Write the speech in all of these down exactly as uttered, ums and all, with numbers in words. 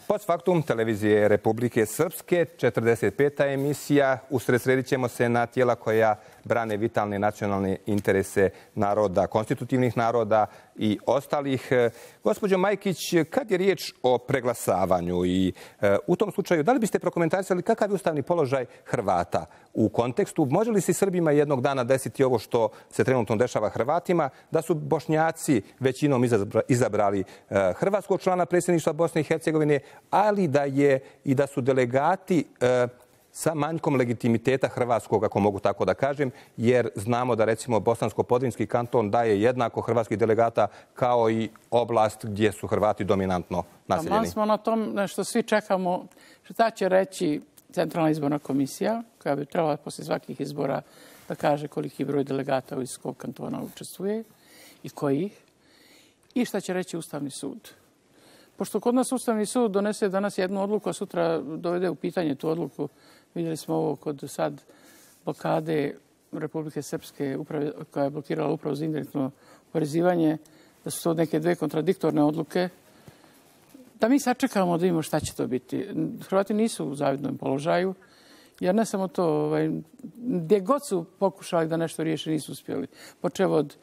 Post faktum televizije Republike Srpske, četrdeset peta emisija. Usredsredit ćemo se na tijela koja brane vitalne nacionalne interese naroda, konstitutivnih naroda i ostalih. Gospođo Majkić, kad je riječ o preglasavanju i e, u tom slučaju, da li biste prokomentarisali kakav je ustavni položaj Hrvata u kontekstu? Može li se Srbima jednog dana desiti ovo što se trenutno dešava Hrvatima, da su Bošnjaci većinom izabrali e, hrvatskog člana predsjedništva Bosne i Hercegovine, ali da je i da su delegati e, sa manjkom legitimiteta hrvatskog, ako mogu tako da kažem, jer znamo da recimo Bosansko-Podrinjski kanton daje jednako hrvatskih delegata kao i oblast gdje su Hrvati dominantno naseljeni. Tamo smo na tom što svi čekamo šta će reći Centralna izborna komisija, koja bi trebala poslije svakih izbora da kaže koliki broj delegata iz kog kantona učestvuje i kojih, i šta će reći Ustavni sud. Pošto kod nas Ustavni sud donese danas jednu odluku, a sutra dovede u pitanje tu odluku, vidjeli smo ovo kod sad blokade Republike Srpske uprave, koja je blokirala upravo za indirektno oporezivanje, da su to neke dve kontradiktorne odluke, da mi sačekamo da vidimo šta će to biti. Hrvati nisu u zavidnom položaju, jer ne samo to, ovaj, gdje god su pokušali da nešto riješe, nisu uspjeli. Počev od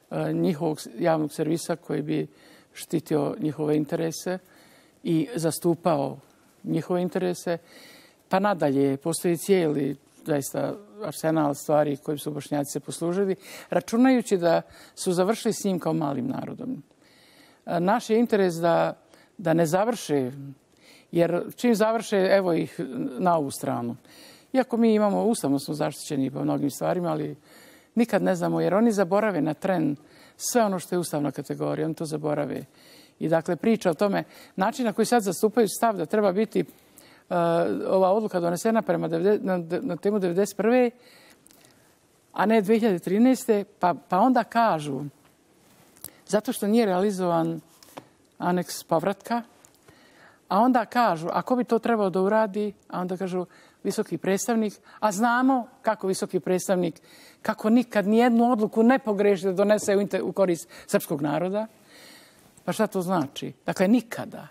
uh, njihovog javnog servisa koji bi štitio njihove interese i zastupao njihove interese, pa nadalje postoji cijeli zaista arsenal stvari kojim su Bošnjaci se poslužili, računajući da su završili s njim kao malim narodom. Naš je interes da, da ne završe, jer čim završe, evo ih na ovu stranu. Iako mi imamo, ustavno smo zaštićeni po mnogim stvarima, ali nikad ne znamo, jer oni zaborave na tren sve ono što je ustavna kategorija, oni to zaborave. I dakle, priča o tome, način na koji sad zastupaju stav da treba biti uh, ova odluka donesena prema na, na temu devedeset prve a ne dve hiljade trinaeste Pa, pa onda kažu, zato što nije realizovan aneks povratka, a onda kažu, ako bi to trebao da uradi, a onda kažu visoki predstavnik, a znamo kako visoki predstavnik, kako nikad nijednu odluku ne pogreši da donese u, u korist srpskog naroda. Pa šta to znači? Dakle, nikada.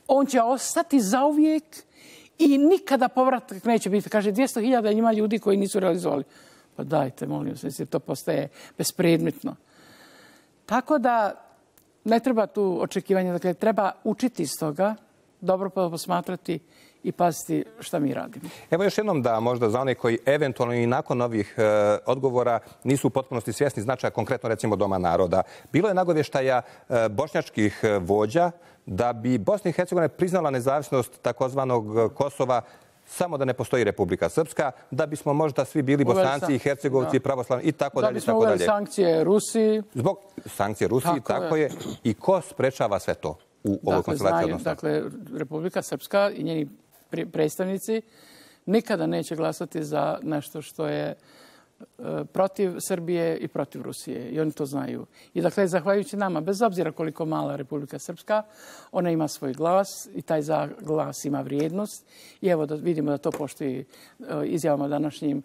On će ostati zauvijek i nikada povratak neće biti. Kaže, dvjesto hiljada ima ljudi koji nisu realizovali. Pa dajte, molim se, to postaje bespredmetno. Tako da ne treba tu očekivanja. Dakle, treba učiti iz toga, dobro posmatrati i paziti šta mi radimo. Evo još jednom da možda za one koji eventualno i nakon ovih e, odgovora nisu u potpunosti svjesni značaja konkretno recimo Doma naroda. Bilo je nagovještaja e, bošnjačkih vođa da bi Bosna i Hercegovina priznala nezavisnost takozvanog Kosova samo da ne postoji Republika Srpska, da bismo možda svi bili Bosanci i Hercegovci, pravoslavni i tako dalje. Da bismo uveli sankcije Rusiji. Zbog sankcije Rusiji, tako, tako je. je. I ko sprečava sve to u ovoj dakle, konstelaciji odnosa? Dakle, Republika Srpska i njeni predstavnici nikada neće glasati za nešto što je protiv Srbije i protiv Rusije. I oni to znaju. I dakle, zahvaljujući nama, bez obzira koliko mala Republika Srpska, ona ima svoj glas i taj glas ima vrijednost. I evo da vidimo da to poštuje izjavama današnjim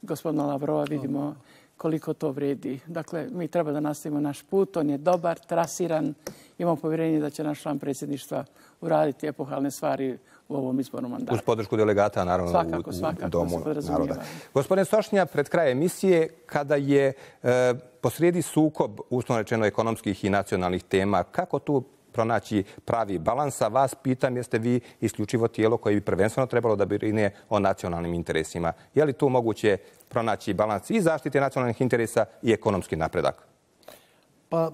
gospodina Lavrova, vidimo koliko to vredi. Dakle, mi treba da nastavimo naš put, on je dobar, trasiran, imamo povjerenje da će naš član predsjedništva uraditi epohalne stvari u ovom izbornom mandatu. Uz podršku delegata, naravno, svakako, u, svakako, u Domu naroda. Gospodine Sošnja, pred kraj emisije, kada je e, posrijedi sukob, uslovno rečeno, ekonomskih i nacionalnih tema, kako tu pronaći pravi balans? A vas pitam, jeste vi isključivo tijelo koje bi prvenstveno trebalo da brine o nacionalnim interesima? Je li tu moguće pronaći balans i zaštite nacionalnih interesa i ekonomski napredak? Pa,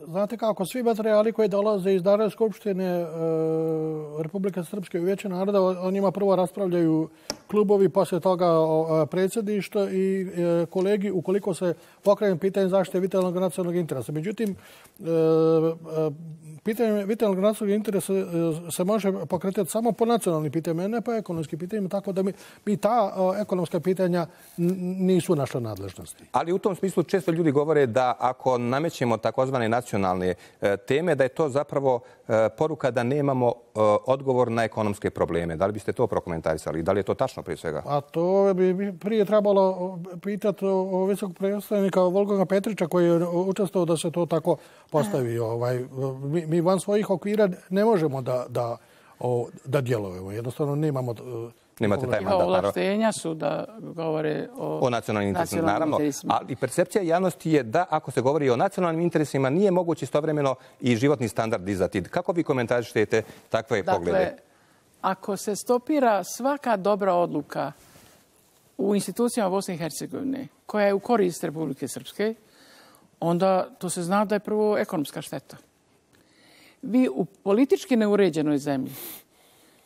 znate kako, svi materijali koji dolaze iz Narodne skupštine Republike Srpske i Vijeća naroda, o njima prvo raspravljaju klubovi, poslije toga predsjedništvo i kolegi, ukoliko se pokrene pitanje zaštite vitalnog nacionalnog interesa. Međutim, pitanje vitalnog nacionalnog interesa se može pokretati samo po nacionalnim pitanjima, ne po ekonomskim pitanjima, tako da mi, mi ta ekonomska pitanja nisu naša nadležnosti. Ali u tom smislu često ljudi govore da ako namećemo takozvane nacionalne teme, da je to zapravo poruka da nemamo odgovor na ekonomske probleme. Da li biste to prokomentarisali? Da li je to tačno prije svega? A to bi prije trebalo pitati visokog predstavnika Volgana Petrića koji je učestvovao da se to tako postavi. Mi, mi van svojih okvira ne možemo da, da, da djelujemo. Jednostavno nemamo... Nemate taj mandat. Ovlaštenja su da govore o, o nacionalnim interesima. Naravno, ali percepcija javnosti je da ako se govori o nacionalnim interesima nije moguće istovremeno i životni standard dizati. Kako vi komentarišete takve dakle, poglede? Dakle, ako se stopira svaka dobra odluka u institucijama Bosne i Hercegovine koja je u korist Republike Srpske, onda to se zna da je prvo ekonomska šteta. Vi u politički neuređenoj zemlji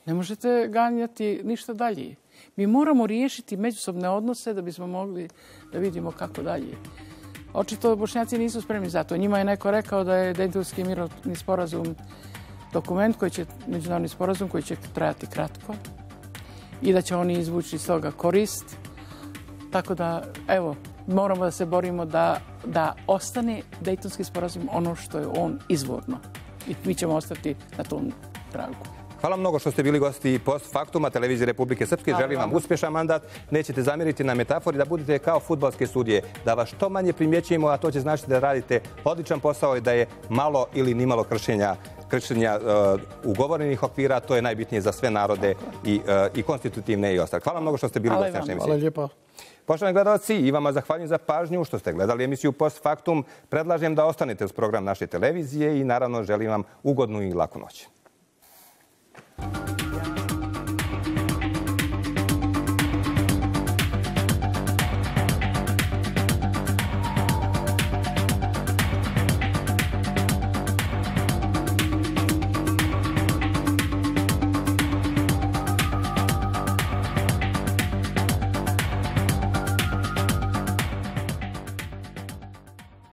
ne možete ganjati ništa dalje. Mi moramo riješiti međusobne odnose da bismo mogli da vidimo kako dalje. Očito Bošnjaci nisu spremni za to. Njima je neko rekao da je Dejtonski mirovni sporazum dokument koji će, međunarodni sporazum koji će trajati kratko i da će oni izvući iz toga korist. Tako da, evo, moramo da se borimo da, da ostane Dejtonski sporazum ono što je on izvorno. I mi ćemo ostati na tom tragu. Hvala mnogo što ste bili gosti Post Faktuma, televizije Republike Srpske. Želim vam uspješan mandat. Nećete zamjeriti na metafori da budete kao fudbalske sudije. Da vas što manje primjećujemo, a to će značiti da radite odličan posao i da je malo ili nimalo kršenja, kršenja uh, ugovorenih okvira. To je najbitnije za sve narode i, uh, i konstitutivne i ostale. Hvala mnogo što ste bili gosti naše emisije. Hvala lijepo. Poštovani gledalci, i vama zahvaljujem za pažnju što ste gledali emisiju Post Faktum. Predlažem da ostanete uz program naše televizije i naravno želim vam ugodnu i laku noć.